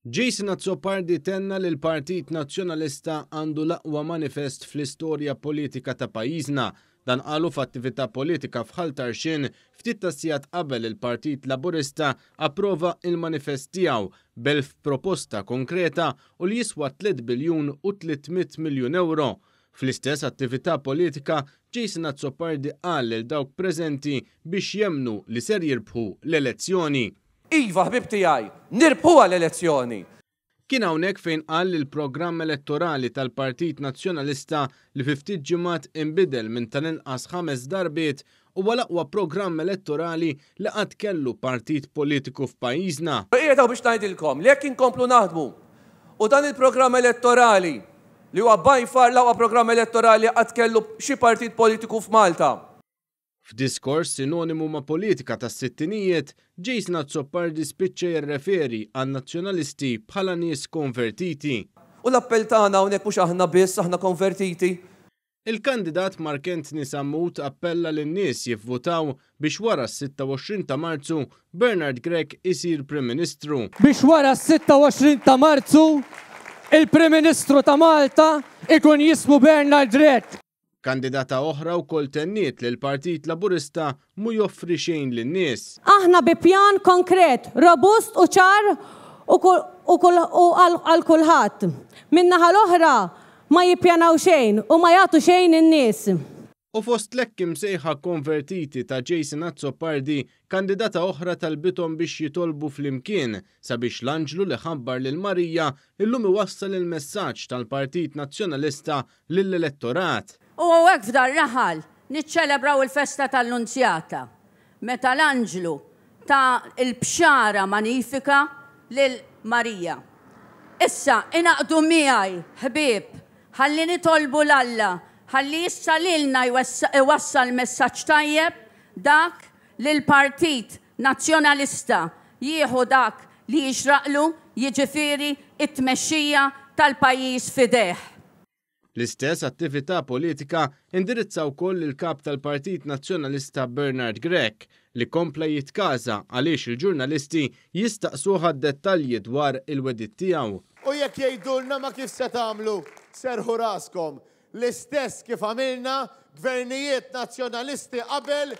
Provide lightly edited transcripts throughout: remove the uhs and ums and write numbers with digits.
Jason Azzopardi tenna li l-Partit Nazzjonalista għandu l-aqwa manifest fl-istorja politika ta' pajjiżna. Dan qalu f'attività politika f'Ħal Tarxien ftit tas-sigħat qabel il-Partit Laburista approva il-manifest tiegħu b'1000 proposta konkreta u li jiswa 3 biljun u 300 miljun euro. Fl-istess attività politika, Jason Azzopardi qal lil dawk preżenti biex jemmnu li ser jirbħu l-elezzjoni. Iva, ħbieb tiegħi, nirbħuha l-elezzjoni! Kien hawnhekk fejn qal li l-programm elettorali tal-Partit Nazzjonalista li fi ftit ġimgħat inbidel minn tal-inqas ħames darbiet huwa l-aqwa programm elettorali li qatt kellu partit politiku f'pajjiżna. Qiegħed hawn biex ngħidilkom li jekk inkomplu naħdmu u dan il-programm elettorali li huwa by far l-aqwa programm elettorali li qatt kellu xi partit politiku f'Malta, F'diskors sinonimu ma' politika tas-sittinijiet, Jason Azzopardi spiċċa jirreferi għan-Nazzjonalisti bħala nies konvertiti. U l-appell tagħna hawnhekk mhux aħna biss, aħna konvertiti. Il-kandidat Mark Anthony Sammut appella lin-nies jivvutaw biex wara s-26 ta' Marzu Bernard Grech isir Prim Ministru. Biex wara s-26 ta' Marzu il-Prim Ministru ta' Malta ikun jismu Bernard Grech. Kandidata oħra wkoll tenniet li l-Partit Laburista mhu joffri xejn lin-nies. Aħna bi pjan konkret, robust u ċar u għal kulħadd. Min-naħa l-oħra ma jippjanaw xejn u ma jagħtu xejn in-nies. U fost l-hekk imsejħa konvertiti ta' Jason Azzopardi, kandidata oħra talbithom biex jitolbu flimkien sabiex l-anġlu li ħabbar lil Marija illum iwassal il-messaġġ tal-Partit Nazzjonalista lill-elettorat. U hawnhekk f'dar-raħal niċċelebraw il-festa tal-Lunzjata, meta l-anġlu ta l-bxara manifika lil Marija. Issa ingħaqdu miegħi, ħbieb, ħalli nitolbu 'l Alla ħalli issa lilna jwassal messaġġ tajjeb, dak li l-Partit Nazzjonalista jieħu dak li jixraqlu, jiġifieri t-tmexxija tal-pajjiż f'idejh. L-istess attività politika indirizza wkoll il-Kap tal-Partit Nazzjonalista Bernard Grech li kompla jitkaża għaliex il-ġurnalisti jistaqsuh għad-dettalji dwar il-wegħdiet tiegħu. U jekk jgħidulna ma kif se tagħmlu, serrħu raskom. L-istess kif għamilna gvernijiet Nazzjonalisti qabel.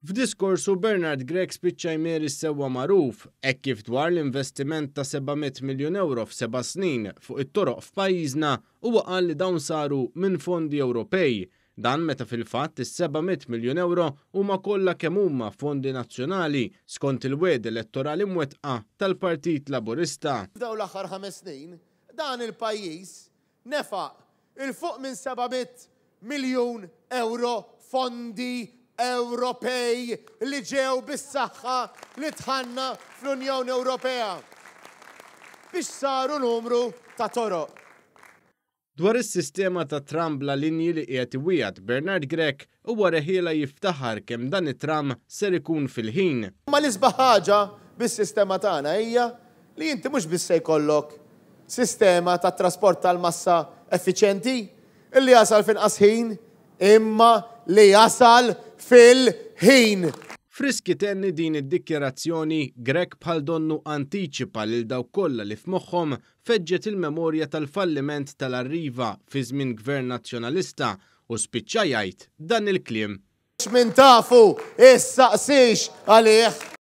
F'diskorsu Bernard Grech spiċċa jmeri s-sewwa magħruf, hekk kif dwar l-investiment ta' 700 miljun ewro f'seba' snin fuq it-toroq f'pajjiżna huwa qal li dawn saru minn fondi Ewropej. Dan meta fil-fatt is-700 miljun ewro huma kollha kemm huma fondi nazzjonali skont il-wegħdi elettorali mwettqa tal-Partit Laburista. F'dawn l-aħħar ħames snin, dan il-pajjiż nefaq 'il fuq minn 700 miljun ewro fondi Ewropej li ġew bis-saħħa li dħalna fl-Unjoni Ewropea biex saru numru ta' toroq. Dwar is-sistema ta' tram bla linji li qiegħed iwiegħed Bernard Grech, huwa reħielha jiftaħar kemm dan it-tram ser ikun fil-ħin. Imma l-isbaħ ħaġa bis-sistema tagħna hija li inti mhux biss se jkollok sistema ta' trasport tal-massa effiċjenti, li jasal f'inqas ħin, imma li jasal fil-ħin. Frisk itenni din id-dikjarazzjoni, Grech bħal donnu antiċipa lil dawk kollha li f'moħħhom feġġet il-memorja tal-falliment tal-Arriva fi żmien Gvern Nazzjonalista u spiċċa jgħid dan il-kliem. Min tafu, issaqsix għalih!